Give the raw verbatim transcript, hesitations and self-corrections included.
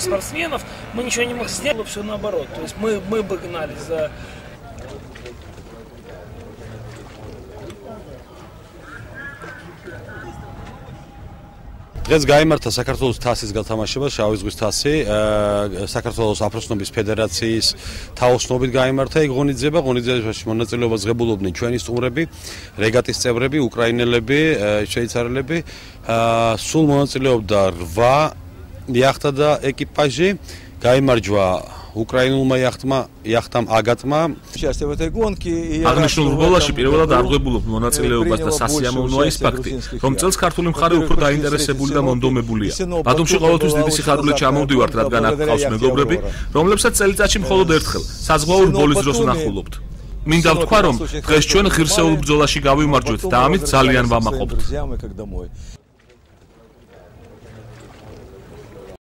спортсменов, мы ничего не могли сделать, все наоборот. То есть мы, мы бы гнались за... დღეს გაიმართა საქართველოს თასის გათამაშება, შავი ზღვის თასი, საქართველოს აფროსნობის ფედერაციის თაოსნობით გაიმართა. იქ ღონისძიება, ღონისძიებაში მონაწილეობას ღებულობდნენ ჩვენი სტუმრები, რეგატის წევრები, უკრაინელები, შვეიცარიელები. სულ მონაწილეობდა რვა იახტა და ეკიპაჟი. გაიმარჯვა უკრაინულმა იახტმა, იახტამ აგატმა. აღნიშნულ რბოლაში პირველად არღვებულობ მონაწილეობას და სასიამოვნოა ის ფაქტი, რომ წელს ქართული მხარე უფრო დაინტერესებული და მონდომებულია. ბათუმში ყოველთვის დიდი სიხარულით ჩამოვდივართ, რადგან აქ ყავს მეგობრები, რომლებსაც წელიწადში მხოლოდ ერთხელ საზღვაო რბოლის დროს ვნახულობთ. მინდა ვთქვა, რომ დღეს ჩვენ ღირსეულ ბრძოლაში გავიმარჯვეთ და ამით ძალიან ვამაყობთ.